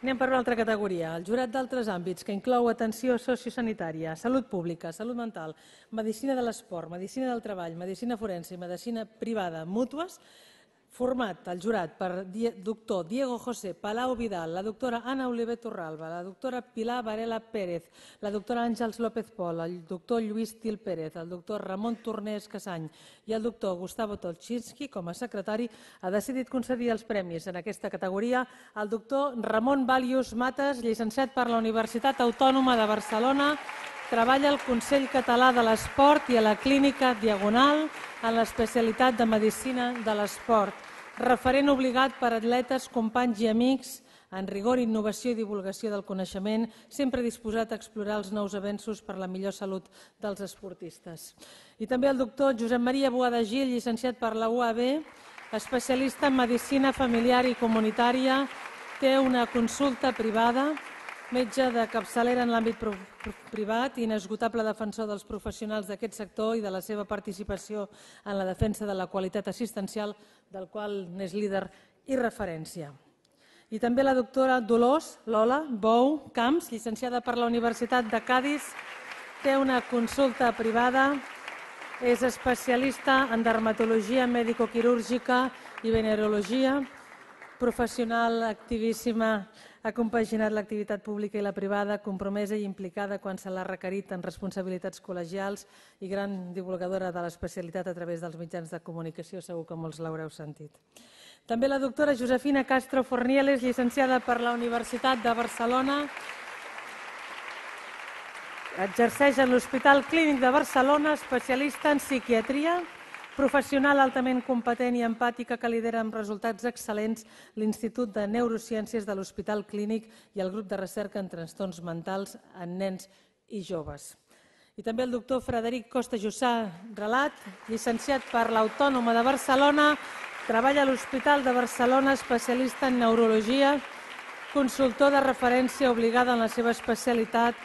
Anem per una altra categoria. El jurat d'altres àmbits, que inclou atenció sociosanitària, salut pública, salut mental, medicina de l'esport, medicina del treball, medicina forense i medicina privada mútues, format el jurat per doctor Diego José Palau Vidal, la doctora Ana Oliver Torralba, la doctora Pilar Varela Pérez, la doctora Àngels López Pol, el doctor Lluís Til Pérez, el doctor Ramon Tornés Casany i el doctor Gustavo Tolchinsky, com a secretari, ha decidit concedir els premis en aquesta categoria al doctor Ramon Balius Mates, llicenciat per la Universitat Autònoma de Barcelona, treballa al Consell Català de l'Esport i a la Clínica Diagonal en l'especialitat de Medicina de l'Esport. Referent obligat per atletes, companys i amics en rigor, innovació i divulgació del coneixement, sempre disposat a explorar els nous avenços per la millor salut dels esportistes. I també el doctor Josep Maria Boada Gil, llicenciat per la UAB, especialista en Medicina Familiar i Comunitària, té una consulta privada, metge de capçalera en l'àmbit privat i inesgotable defensor dels professionals d'aquest sector i de la seva participació en la defensa de la qualitat assistencial, del qual n'és líder i referència. I també la doctora Dolors Lola Bou Camps, llicenciada per la Universitat de Cadis, té una consulta privada, és especialista en dermatologia medicoquirúrgica i venerologia, professional activíssima, ha compaginat l'activitat pública i la privada, compromesa i implicada quan se l'ha requerit en responsabilitats col·legials i gran divulgadora de l'especialitat a través dels mitjans de comunicació, segur que molts l'haureu sentit. També la doctora Josefina Castro Fornieles, llicenciada per la Universitat de Barcelona, exerceix en l'Hospital Clínic de Barcelona, especialista en psiquiatria, professional altament competent i empàtica que lidera amb resultats excel·lents l'Institut de Neurociències de l'Hospital Clínic i el grup de recerca en trastorns mentals en nens i joves. I també el doctor Frederic Costa Jussà Relat, llicenciat per l'Autònoma de Barcelona, treballa a l'Hospital de Barcelona, especialista en neurologia, consultor de referència obligada en la seva especialitat,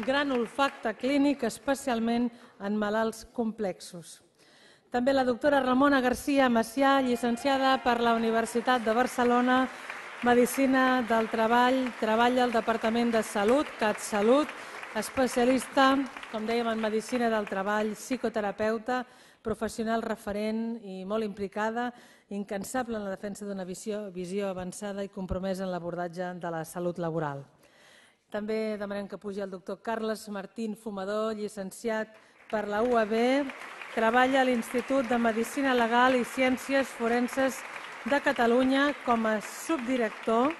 gran olfacte clínic, especialment en malalts complexos. També la doctora Ramona García Macià, llicenciada per la Universitat de Barcelona, Medicina del Treball, treballa al Departament de Salut, CatSalut, especialista, com dèiem, en Medicina del Treball, psicoterapeuta, professional referent i molt implicada, incansable en la defensa d'una visió avançada i compromesa en l'abordatge de la salut laboral. També demanem que pugi el doctor Carles Martín Fumador, llicenciat per la UAB, treballa a l'Institut de Medicina Legal i Ciències Forenses de Catalunya com a subdirector,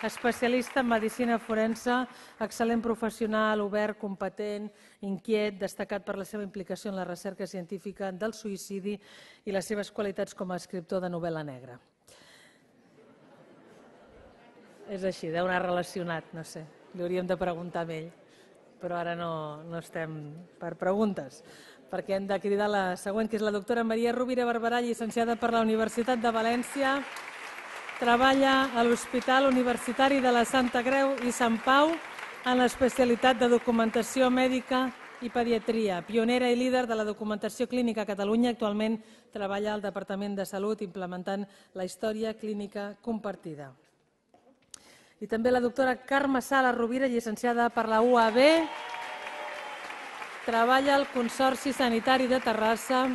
especialista en medicina forense, excel·lent professional, obert, competent, inquiet, destacat per la seva implicació en la recerca científica del suïcidi i les seves qualitats com a escriptor de novel·la negra. És així, deu anar relacionat, no sé, li hauríem de preguntar a ell, però ara no estem per preguntes, perquè hem de cridar la següent, que és la doctora Maria Rovira Barberà, llicenciada per la Universitat de València, treballa a l'Hospital Universitari de la Santa Creu i Sant Pau en l'especialitat de documentació mèdica i pediatria, pionera i líder de la documentació clínica a Catalunya, actualment treballa al Departament de Salut implementant la història clínica compartida. I també la doctora Carme Sala Rovira, llicenciada per la UAB, treballa al Consorci Sanitari de Terrassa,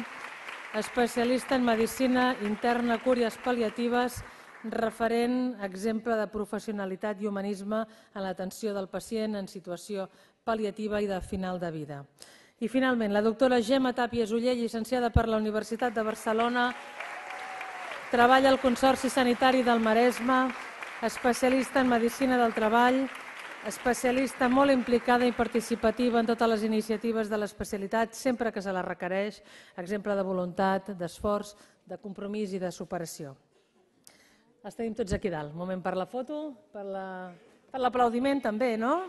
especialista en medicina interna, cures pal·liatives, referent exemple de professionalitat i humanisme en l'atenció del pacient en situació pal·liativa i de final de vida. I finalment, la doctora Gemma Tàpies Oller, llicenciada per la Universitat de Barcelona, treballa al Consorci Sanitari del Maresme, especialista en medicina del treball, especialista molt implicada i participativa en totes les iniciatives de l'especialitat, sempre que se la requereix, exemple de voluntat, d'esforç, de compromís i de superació. Els tenim tots aquí dalt. Un moment per la foto, per l'aplaudiment també, no?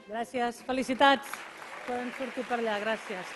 Gràcies. Felicitats. Poden sortir per allà. Gràcies.